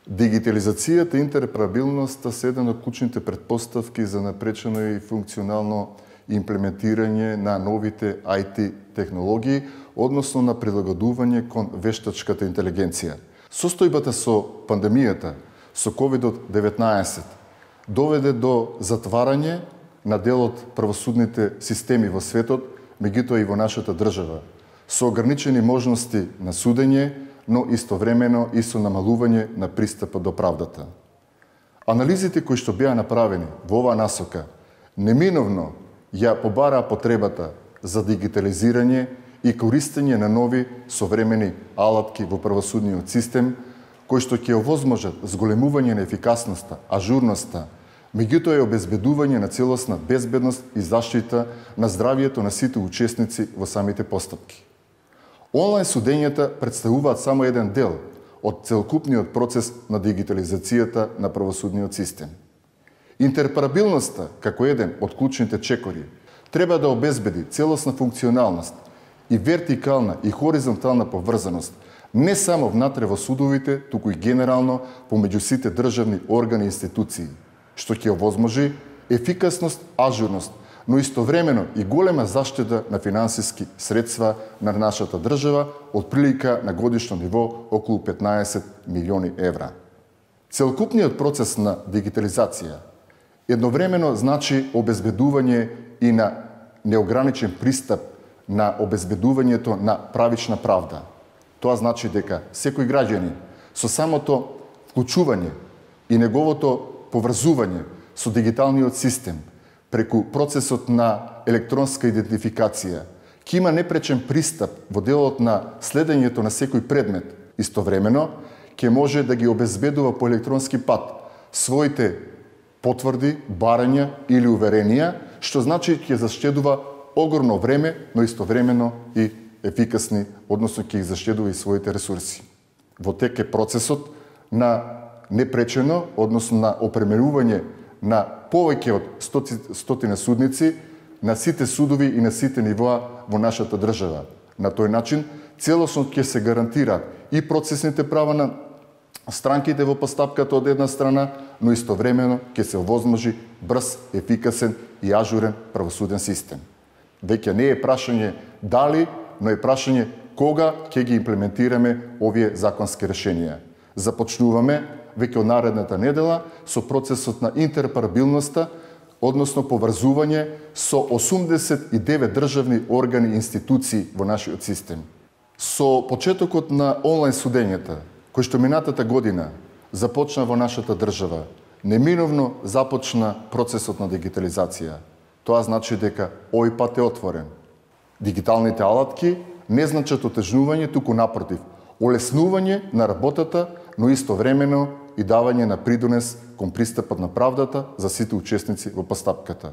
Дигитализацијата и интероперабилноста се една од клучните претпоставки за напречено и функционално имплементирање на новите IT технологии, односно на прилагодување кон вештачката интелигенција. Состојбата со пандемијата, со COVID-19, доведе до затварање на дел од правосудните системи во светот, меѓутоа и во нашата држава, со ограничени можности на судење, но истовремено и со намалување на пристапот до правдата. Анализите кои што беа направени во оваа насока неминовно ја побараа потребата за дигитализирање и користење на нови современи алатки во правосудниот систем, кои што ќе овозможат зголемување на ефикасноста, ажурноста, меѓутоа и обезбедување на целосна безбедност и заштита на здравието на сите учесници во самите постапки. Онлайн судењата представуваат само еден дел од целокупниот процес на дигитализацијата на правосудниот систем. Интероперабилноста, како еден од клучните чекори, треба да обезбеди целосна функционалност и вертикална и хоризонтална поврзаност не само внатре во судовите, туку и генерално помеѓу сите државни органи и институции, што ќе овозможи ефикасност, ажурност, но истовремено и голема заштита на финансиски средства на нашата држава, од прилика на годишно ниво околу 15 милиони евра. Целокупниот процес на дигитализација едновремено значи обезбедување и на неограничен пристап на обезбедувањето на правична правда. Тоа значи дека секој граѓанин со самото вклучување и неговото поврзување со дигиталниот систем преку процесот на електронска идентификација ќе има непречен пристап во делот на следењето на секој предмет. Истовремено ќе може да ги обезбедува по електронски пат своите потврди, барања или уверенија, што значи ќе заштедува огромно време, но истовремено и ефикасни, односно ќе ги заштедува и своите ресурси. Во тек е процесот на непречено, односно на опремерување на повеќе од стотина судници на сите судови и на сите нивоа во нашата држава. На тој начин целосно ќе се гарантираат и процесните права на странките во постапката од една страна, но истовремено ќе се овозможи брз, ефикасен и ажурен правосуден систем. Веќе не е прашање дали, но е прашање кога ќе ги имплементираме овие законски решенија. Започнуваме веќе од наредната недела со процесот на интероперабилноста, односно поврзување со 89 државни органи и институции во нашиот систем. Со почетокот на онлайн судењата, кој што минатата година започна во нашата држава, неминовно започна процесот на дигитализација. Тоа значи дека овој пат е отворен. Дигиталните алатки не значат отежнување, туку напротив, олеснување на работата, но истовремено и давање на придонес кон пристапот на правдата за сите учесници во постапката.